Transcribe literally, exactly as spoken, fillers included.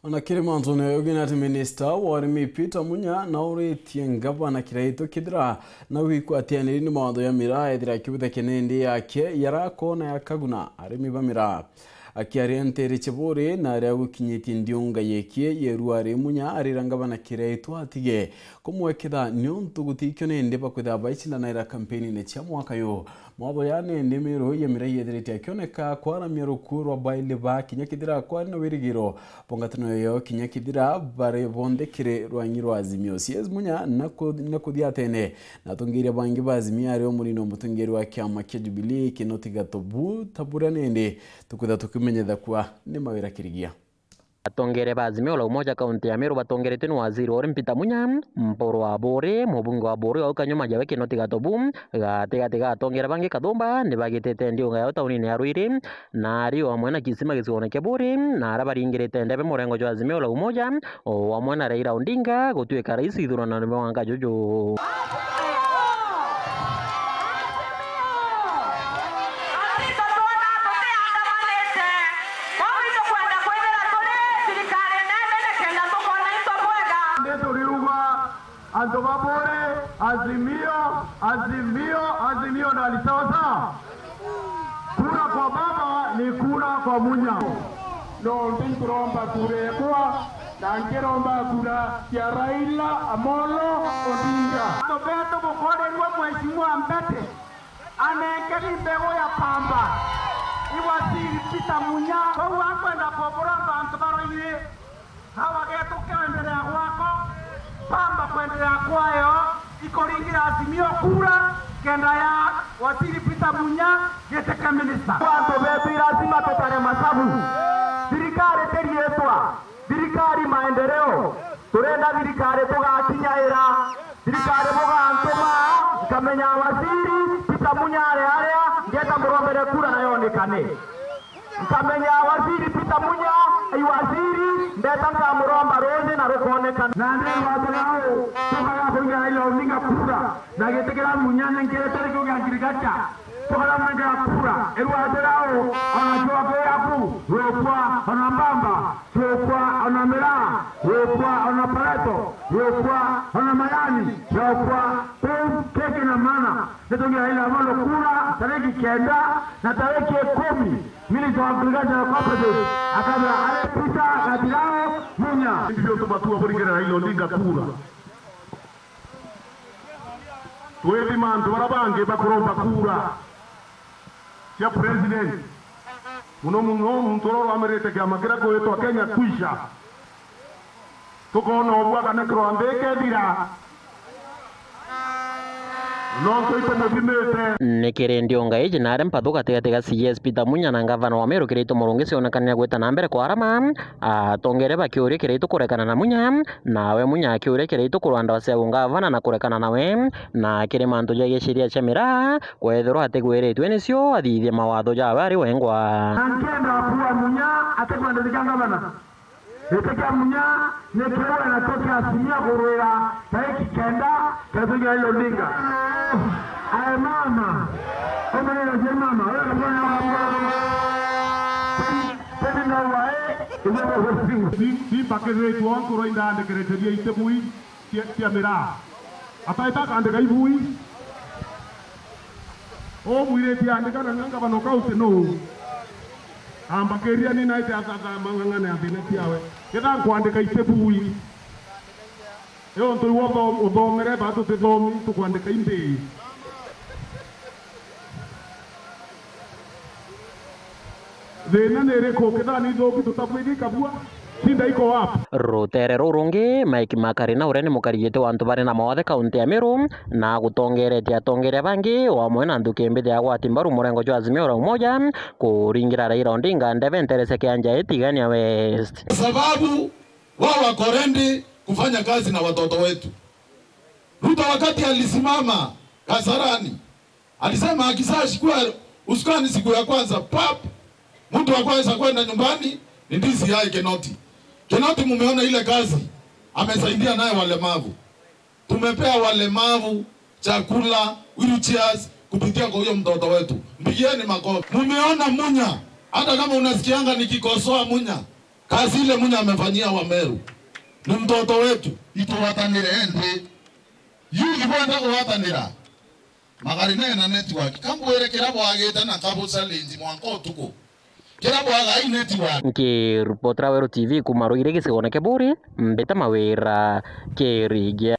Ona kiri mantu ni ugi ni ati minista wa urimi Peter Munya nauritie ngavana Kiraitu kithira na wikwatianiri ni mawatho ya miraa ethira akibutha kinindi yake yarakona ya kaguna arimi ba miraa. Akiaria ntiri Chiburi na aria gukinyitie ndiunga yekie yerua ari Munya arira ngavana Kiraitu atige kumwekitha niuntu gutikio nindi bakwithira baicindanaira kampeni-ini cia mwaka yu. Mawatho ya nindi miru ya miraa yethirite akioneka kwaramia rukuu rwa baili ba kinya kithira kwari na wirigiro bo ngwataniro yao kinya kithira bari bonthe kiri rwangi rwa Azimio. C S Munya na ku-, na kuthia tene na atongeria bangi ba Azimio ari o munini o mutongeri wa kiama kia Jubilee Kinoti Gatobu ta buria nindi tukwithira tukimenyetha kuwa ni mawira kirigia. Atongeria ba Azimio la Umoja kaunti ya Meru batongeretwe ni waziri wa urimi Peter Munya, Mpuru wa Buri, mubunge wa Buri au kanyuma jawe Kinoti Gatobu, gatigati ga atongeria bangi Kathumba ni bagitite ndiunga yao taunini ya Ruiri, na ari o amwe na Kisima gicigoone kia Buri, na aria baringirite ndebe murengo jwa Azimio la Umoja, o amwe na Raila Odinga gutuika rais ithurano ni mwaka juju. Nituriuga antu ba Buri, Azimio, Azimio, Azimio ndani, sawa sawa? Kura kwa baba ni kura kwa Munya. Nontu nturomba kura ekwa, na nkiromba kura cia Raila Amolo Odinga. Antu betu bukorirua Mheshimiwa Mbete, anengeri mbegu ya pamba. I waziri Peter Munya, kou akwenda kuburomba antu ba Ruiri. Hawa getu kwendelea gwako, pamba kwendelea kwayo, ikuringira Azimio kura, kenda ya waziri Peter Munya giti kia minista. Antu betu, i lazima tutare masabu. Thirikari ti riitwa, thirikari maendeleo. Turenda thirikari tugakinyaira, thirikari bugantuma, nkamenya waziri Peter Munya ari aria, ngeta murombere kura na yonekane. Nkamenya waziri Peter Munya, i waziri, ndeta nkamuromba ruuji na rukoonekana. Na ndi rwatira uu, tukaga kuiga Raila Odinga kura, na giti kiria Munya nenkerete ni kiu gia agriculture, tukaga mwenkera kura. I rwatira uu, ona Kiwaku yaku, yukwa, ona Mbamba, yukwa, ona Miraa, yukwa, ona Pareto, yukwa, ona Mayani, yukwa, kuu keki na mana. Nitungia Raila Amolo kura tariki kenda na tariki ikumi, Minister wa Agriculture and Cooperatives akabira ari Peter Gathirao Munya. Indi biuntu batua buringire Raila Odinga kura. Twithima antu baria bangi bakuromba kura cia president. Muno muno muntu uria urugamirite kiama kiria gwitwa Kenya Kwisha. Tukoona ubua kana kirwa nthi ikethira. Nontu itumuthimite. Ni kiri ndiunga iji na aria mpathu gatigati ga C S Peter Munya na ngavana wa Meru Kiraitu Murungi cionekanire gwita na mbere kwa arama, atongeria bakiuria Kiraitu kurekana na Munya, nawe Munya akiuria Kiraitu kurwa ndawa cia ungavana na kurekana nawe, na kiri mantu ja giceria cia miraa, kwethirwa atigwiritwe nicio athithie mawatho jawe ari wengwa. Na nkenda kuwa Munya atikwenda thika ngavana. Giti kia Munya ni kiu na kio kia Azimio kurwira tariki kenda, Kitugia Raila Odinga. Ae mama, umenye je mama, wewe kabla ya mama. Tena na wae, ndio. Ni, ni mbakiriritwe nkuru indandikiriria itibui cia, cia miraa. Ataita akandika ibui. Umwirite andika na ngavana kaunti nuu? Ambakiria ni naite athatha mang'ang'ane athina ciawe. Ketha nkwandika itibui. Io ntu iwe utho-, uthomere, ba tutithomi, tukwandika imbi. Thina ni iriku? Kethira ni ithuki tutabwiri kabua, shinda iko wapi? Rutere ruu rungi, Mike Makarina uria ni mukarigiti wa antu bari na mawathe kaunti ya Meru, na agutongeretie atongeria bangi, o amwe na nthuki mbithi ya gwati mbaru murengo jwa Azimio la Umoja, kuringira Raila Odinga ndebe ntere cia kianja ii Tigania West. Sababu wao wako ready kufanya kazi na watoto wetu. Ruto wakati alisimama Kasarani, alisema akishachukua usukani siku ya kwanza, pap, mtu wa kwanza kwenda nyumbani ni D C I Kinoti. Kinoti, mumeona ile kazi amesaidia naye walemavu. Tumepea walemavu chakula, wheelchairs, kupitia kwa huyo mtoto wetu. Mpigieni makofi. Mumeona Munya, hata kama unasikianga nikikosoa Munya, Kazi ile Munya amefanyia Wameru ni mtoto wetu. Itugwatanire nthi. Yu ikwenda kugwatanira. Magari nena network. Kambwire kira bwagite na kabu challenge mwanka utuku. Kira bwaga i network. Nkiripotera Weru T V kuma Ruiri gicigone kia Buri, Mbita Mawira, Kirigia.